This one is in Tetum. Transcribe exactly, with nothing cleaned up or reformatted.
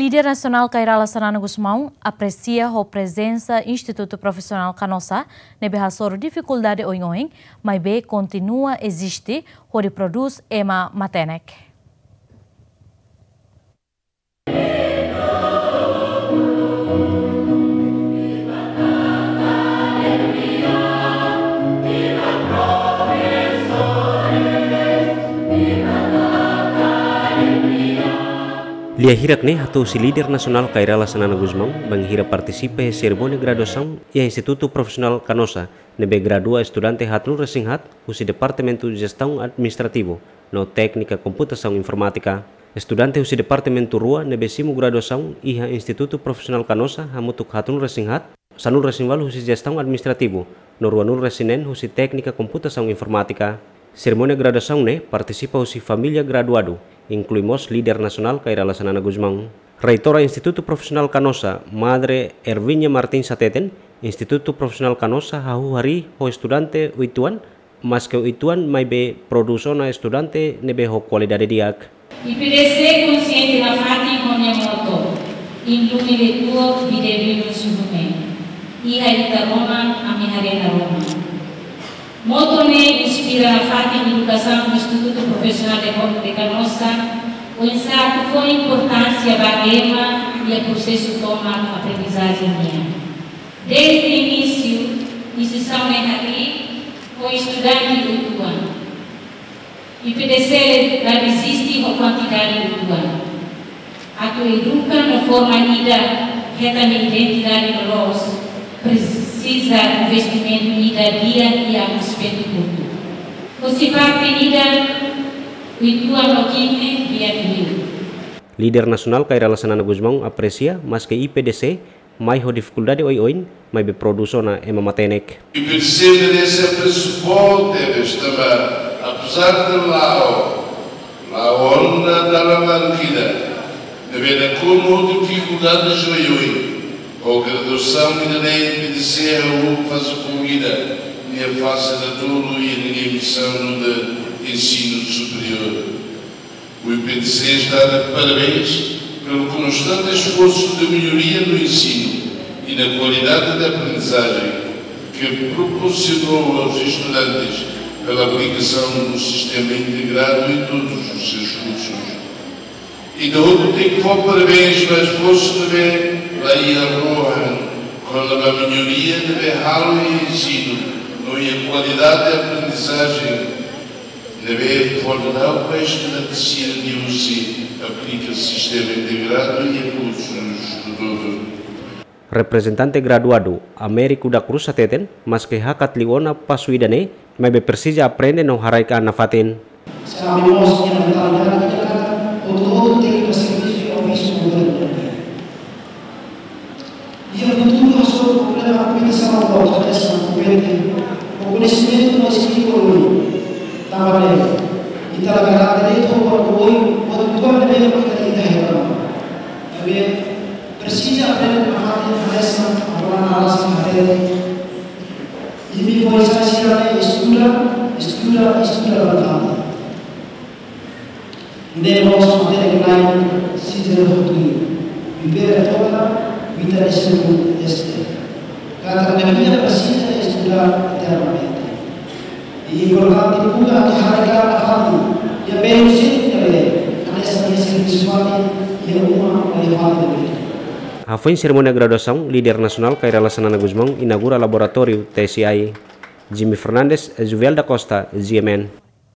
Líder Nasionál Kay Rala Xanana Gusmão apresia ho prezensa Institutu Profisionál Canossa ne'ebé hasoru difikuldade oioin, maibé kontinua eziste hodi prodús ema matenek. Lia hirak ne'e hato'o husi Líder Nasionál Kay Rala Xanana Gusmão bainhira partisipa iha serimónia graduasaun iha Institutu Profisionál Canossa, ne'ebé gradua estudante haat-nulu resin haat husi Departamentu Jestaun Administrativu no Téknika Komputasaun Informátika. Estudante husi departamentu rua ne'ebé simu graduasaun iha Institutu Profisionál Canossa hamutuk haat-nulu resin haat, sanulu resin ualu husi Jestaun Administrativu no ruanulu resin neen husi Téknika Komputasaun Informátika. Serimónia graduasaun ne'e partisipa husi família graduadu, inklui mós Líder Nasionál Kay Rala Xanana Gusmão. Reitora Institutu Profisionál Canossa, Madre Erviña Martins hateten, Institutu Profisionál Canossa hahú harii ho estudante uitoan, maske uitoan maibé prodús ona estudante ne'ebé ho kualidade di'ak. I P D C konsiente nafatin ho nia moto, Inlumi Letuo, Bide Binu Suhume, Iha Ita Rona, Ami Haree Naroman. Moto ne'e inspira nafatin edukasaun Institutu Profisionál de Canossa, oinsá atu fó importánsia ba ema iha prosesu tomak aprendizajen nian. Dezde inísiu, instituisaun ne'e harii ho estudante uitoan. I P D C la eziste ho kuantidade uitoan. Atu eduka no forma ida hetan nia identidade loloos, presiza investimentu ida di'ak iha aspetu kultura. Husi parte ida, uitoan no kine di'ak liu. Líder Nasionál Kay Rala Xanana Gusmão apresia, maske I P D C mai ho difikuldade oioin, maibé prodús ona ema matenek. I P D C merese apresu boot tebes tanba, apezar de la'o, la'o ona dalan larga ida, ne'ebé nakonu ho difikuldades oioin, ho graduasaun ida-ne'e I P D C hahú faze foun ida nia fase datolu iha ninia misaun nu'udar ensinu superiór. O I P D C está de parabéns pelo constante esforço de melhoria no ensino e na qualidade da aprendizagem que proporcionou aos estudantes pela aplicação do sistema integrado em todos os seus cursos. I P D C tenke fó parabéns ba esforsu ne'ebé la iha rohan kona-ba melhoria ne'ebé halo iha ensinu no iha kualidade de aprendizajen ne'ebé fó daudaun ba estudante sira nia husi aplika sistema integradu iha kursus hotu-hotu. Reprezentante graduadu, Américo da Cruz hateten, maske hakat liu ona pasu ida-ne'e, maibé presiza aprende no haraik an nafatin. Sabe mós iha mentalidade ida katak hotu-hotu tenke servisu iha ofísiu governu. Iha futuru hasoru problema aplikasaun ba hanesan kompete ho koñesimentu no skill oioin. Tanba ne'e, ita la garante de'it ho buat oioin, buat uitoan ne'ebé ita hetan. Maibé presiza aprende nafatin hanesan Abraham Arasi hatete. Imi foin-sa'e sira ne'e estuda, estuda, estuda bastante. Ne'e mós matenek lain sira hotu. Vivere toda vida de ser este. Katak vida presiza estudar eternamente. I importante buka atu haraik an nafatin, iha belu sira ne'ebé hanesan iha servisu fatin, iha uma, iha fatin ne'ebé. Hafoin serimónia graduasaun, Líder Nasionál Kay Rala Xanana Gusmão inaugura laboratóriu T S I. Jimmy Fernandes, Juvel da Costa, G M N.